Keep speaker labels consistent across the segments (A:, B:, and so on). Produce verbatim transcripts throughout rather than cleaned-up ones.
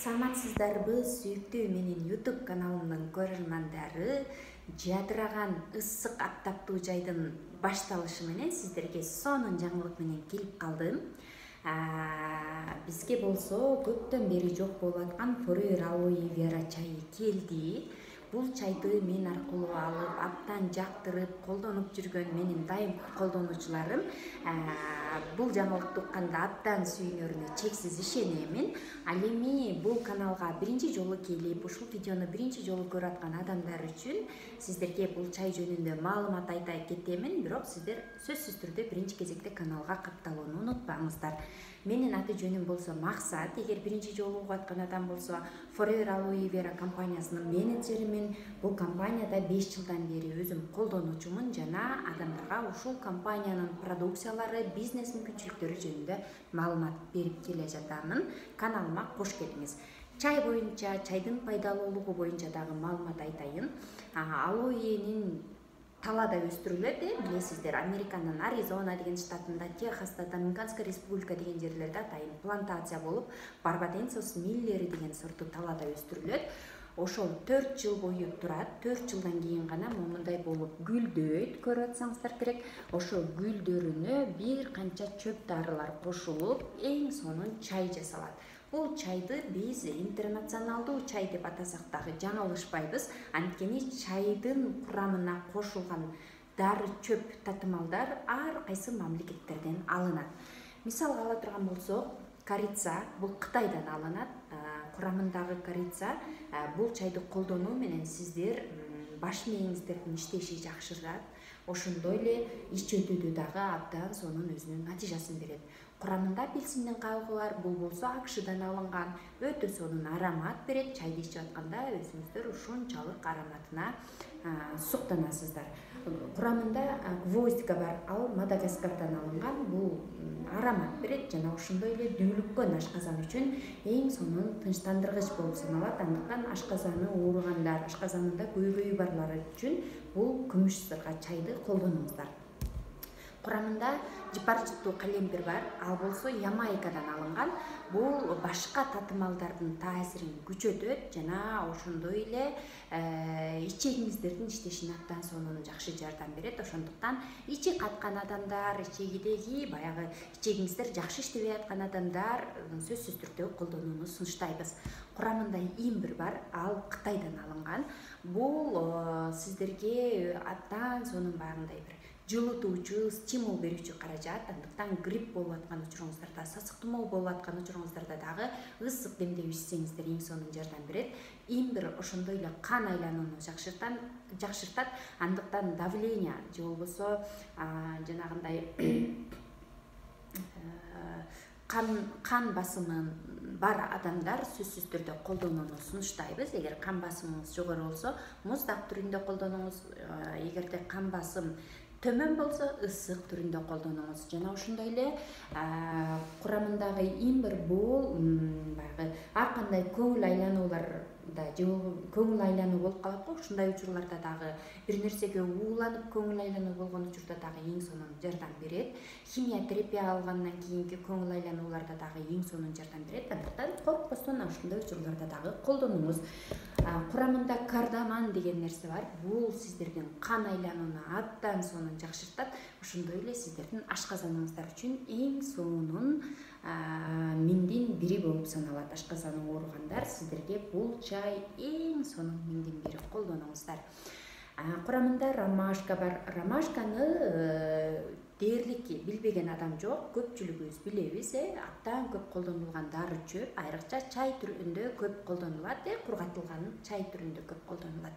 A: Саламатсыздарбы, сүйүктүү менин YouTube каналымдын көрөрмандары. Жадыраган ысык аптаптуу жайдын башталышы менен сиздерге сонун жаңылык менен келип калдым. Бизге болсо көптөн бери жок болуп аткан Forever Aloe Vera чайы келди. Бул чайды мен аркылуу алып, абдан жактырып, колдонуп жүргөн менин дайым колдонуучуларым бул жаңылыкты укканда абдан сүйүнөрүнө чексиз ишенемин. Ал эми бул каналга биринчи жолу келип, ушул видеону биринчи жолу көрүп аткан адамдар үчүн сиздерге бул чай жөнүндө маалымат айта кетемин, бирок сиздер сөзсүз түрдө биринчи кезекте каналга катталууну унутпаңыздар. Менин аты жөнүм болсо Максат. Эгер биринчи жолу угуп аткан адам болсо, Forever Aloe Vera компаниясынын менеджеримин. Бул компанияда беш жылдан бери өзүм колдонуучумун жана адамдарга ушул компаниянын продукциялары, бизнес мүмкүнчүлүктөрү жөнүндө маалымат берип келе жатамын. Каналыма кош келиңиз. Чай боюнча, чайдын пайдалуулугу боюнча дагы маалымат айтайын. Алоэнин талаада өстүрүлөт, билесиздер, Американын Аризона деген штатында, Техаста, Доминиканская республика деген жерлерде атайын плантация болуп, Барбаденсос миллери деген сорту талаада өстүрүлөт. Ошол төрт жыл бою турат. төрт жылдан кийин гана момундай болуп гүлдөйт, көрүп атсаңыздар керек. Ошол гүлдөрүнө бир канча чөп дарылар кошулуп, эң сонун чай жасалат. Бул чайды биз интернационалдуу чай деп атасак дагы жаңылышпайбыз. Анткени чайдын курамына кошулган дары чөп татымалдар ар кайсы мамлекеттерден алынат. Мисалга ала турган болсок, корица бул Кытайдан алынат. Курамындагы корица бул чайды колдонуу менен сиздер баш мээңиздердин иштеши жакшырат. Ошондой эле ич өтүүдө дагы абдан сонун өзүнүн натыйжасын берет. Курамында апельсиндин кабыгы бар, бул болсо акшдан алынган, өтө сонун аромат берет. Чайды ичип атканда өзүңүздөр ушунчалык ароматына суктанасыздар. Курамында гвоздика бар, ал Мадагаскардан алынган, бул аромат берет жана ошондой эле дүүлүккөн ашказан үчүн эң сонун тынчтандыргыч болуп саналат. Андыктан ашказаны ооругандар, ашказанында көйгөйү барлар үчүн бул күмүш сырга чайды колдонуңуздар. Курамында жыпарчыктуу калемпир бар, ал болсо Ямайкадан алынган. Бул башка татымалдардын таасирин күчөтөт жана ошондой эле ичегиңиздердин иштешине абдан сонун жакшы жардам берет. Ошондуктан ичи каткан адамдар, ичегидеги баягы ичегиңиздер жакшы иштебей аткан адамдар сөзсүз түрдө колдонууну сунуштайбыз. Курамында имбир бар, ал Кытайдан алынган. Бул сиздерге абдан сонун баягындай бир жылытуучу, стимул берүүчү каражат. Андыктан грипп болуп аткан учуруңуздарда, сасык тумоо болуп аткан учуруңуздарда дагы ысык демдеп ичсеңиздер эң сонун жардам берет. Имбир ошондой эле кан айланууну жакшыртат. Андыктан давление же болбосо жанагындай кан кан басымы бар адамдар сөзсүз түрдө колдонууну сунуштайбыз. Эгер кан басымыңыз жогору болсо, муздак түрүндө колдонуңуз. Эгерде кан басым төмөн болсо, ысык түрүндө колдонуңуз. Жана ошондой эле курамындагы имбир бул баягы ар кандай көңүл айланууларда же көңүл айлануу болуп калат го, ушундай учурларда дагы бир нерсеге ууланып көңүл айлануу болгон учурда дагы эң сонун жардам берет. Химия терапия алгандан кийинки көңүл айланууларда дагы эң сонун жардам берет. Андыктан коркпостон ушундай учурларда дагы колдонуңуз. Курамында кардаман деген нерсе бар. Бул сиздердин кан айланууну абдан сонун жакшыртат. Ошондой эле сиздердин ашказаныңыздар үчүн эң сонун миңдин бири болуп саналат. Ашказаны ооругандар сиздерге бул чай эң сонун миңдин бири, колдонуңуздар. Курамында ромашка бар. Ромашканы дээрлик билбеген адам жок, көпчүлүгүбүз билебиз. Абдан көп колдонулган дары чөп, айрыкча чай түрүндө көп колдонулат, кургатылган чай түрүндө көп колдонулат.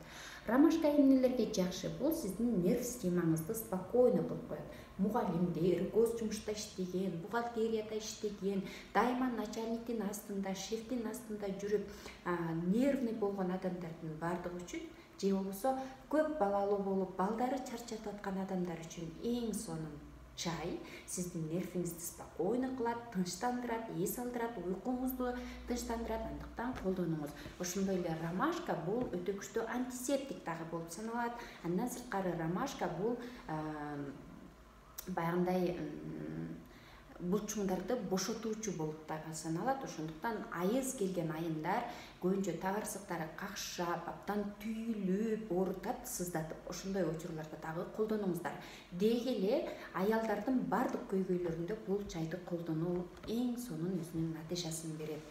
A: Ромашка эмнелерге жакшы? Бул сиздин нерв системаңызды спокойно кылып коет. Мугалимдер, гос жумушта иштеген, бухгалтерияда иштеген, дайыма начальниктин астында, шефтин астында жүрүп, нервный болгон адамдардын бардыгы үчүн, же болбосо көп балалуу болуп, балдары чарчатып аткан адамдар үчүн эң сонун чай сиздин нервиңизди спокойно кылат, тынчтандырат, эс алдырат, уйкуңузду тынчтандырат. Андыктан колдонуңуз. Ошондой эле ромашка бул өтө күчтүү антисептик дагы болуп саналат. Андан сырткары ромашка бул баягындай булчуңдарды бошотуучу болуп дагы саналат. Ошондуктан айыз келген айымдар көбүнчө тагырсыктары какшап, абдан түйүлүп, оорутат, сыздатып, ошондой учурларда дагы колдонуңуздар. Деги эле аялдардын бардык көйгөйлөрүндө бул чайды колдонуу эң сонун өзүнүн натыйжасын берет.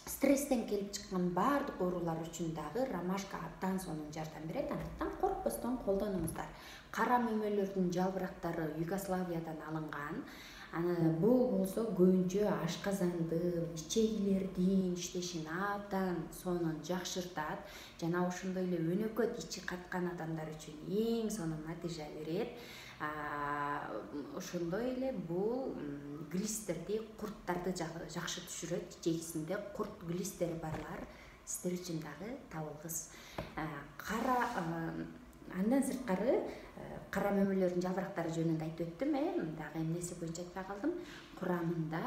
A: Стресстен келип чыккан бардык оорулар үчүн дагы ромашка абдан сонун жардам берет. Андыктан коркпостон колдонуңуздар. Кара мөмөлөрдүн жалбырактары Югославиядан алынган. Аны бул болсо көбүнчө ашказандын, ичегилердин иштешин абдан сонун жакшыртат жана ошондой эле өнөкөт ичи каткан адамдар үчүн эң сонун натыйжа берет. Ошондой эле бул глистерди, курттарды жакшы түшүрөт. Ичегисинде курт глистери барлар сиздер үчүн дагы табылгыс. Кара андан сырткары кара мөмөлөрдүн жалбырактары жөнүндө айтып өттүм, э, дагы эмнеси боюнча айтпай калдым. Курамында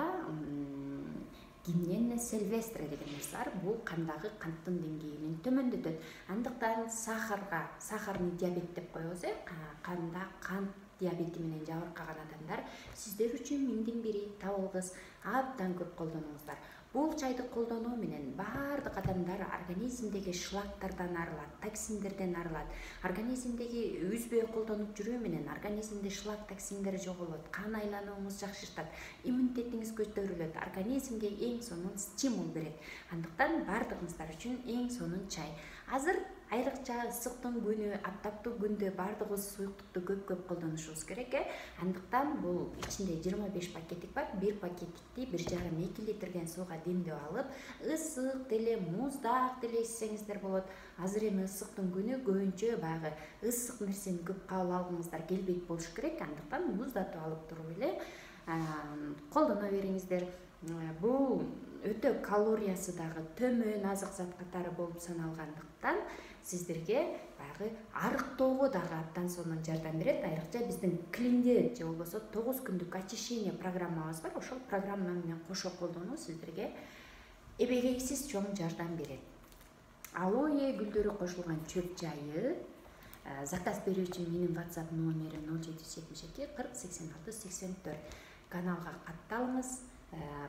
A: гинен сильвестре деген нерсе бар. Бул кандагы канттын деңгээлин төмөндөтөт. Андыктан сахарга, сахарный диабет деп коебуз, э, канда кант диабети менен жабыркаган адамдар сиздер үчүн миңдин бири табылгыс. Абдан көп колдонуңуздар. Бул чайды колдонуу менен бардык адамдар организмдеги шлактардан арылат, токсиндерден арылат. Организмдеги үзбөй колдонуп жүрүү менен организмде шлак, токсиндер жоголот, кан айланууңуз жакшыртат, иммунитетиңиз көтөрүлөт, организмге эң сонун стимул берет. Андыктан бардыгыңыздар үчүн эң сонун чай. Азыр айрыкча ысыктын күнү, аптаптуу күндө бардыгыбыз суюктукту көп-көп колдонушубуз керек, э. Андыктан бул ичинде жыйырма беш пакеттик бар. Бир пакеттикти бир жарым эки литрден сууга демдеп алып, ысык деле, муздак деле ичсеңиздер болот. Азыр эми ысыктын күнү көбүнчө баягы ысык нерсени көп кабыл алгыңыздар келбейт болуш керек. Андыктан муздатып алып туруп эле колдоно бериңиздер. Бул өтө калориясы дагы төмөн азык зат катары болуп саналгандыктан сиздерге баягы арыктоого дагы абдан сонун жардам берет. Айрыкча биздин клинде же болбосо тогуз күндүк очищение программабыз бар. Ошол программа менен кошо колдонуу сиздерге эбегейсиз чоң жардам берет. Алоэ гүлдөрү кошулган чөп чайы заказ берүү үчүн менин WhatsApp номерим ноль жети жүз жетимиш эки кырк сексен алты сексен төрт. Каналга катталыңыз.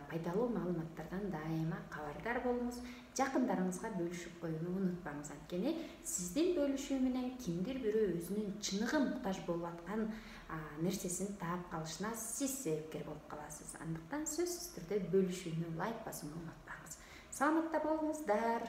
A: Пайдалуу маалыматтардан дайыма кабардар болуңуз. Жакындарыңызга бөлүшүп коюуну унутпаңыз. Анткени сиздин бөлүшүү менен кимдир бирөө өзүнүн чыныгы муктаж болуп аткан нерсесин таап калышына сиз себепкер болуп каласыз. Андыктан сөзсүз түрдө бөлүшүүнү, лайк басууну унутпаңыз. Саламатта болуңуздар.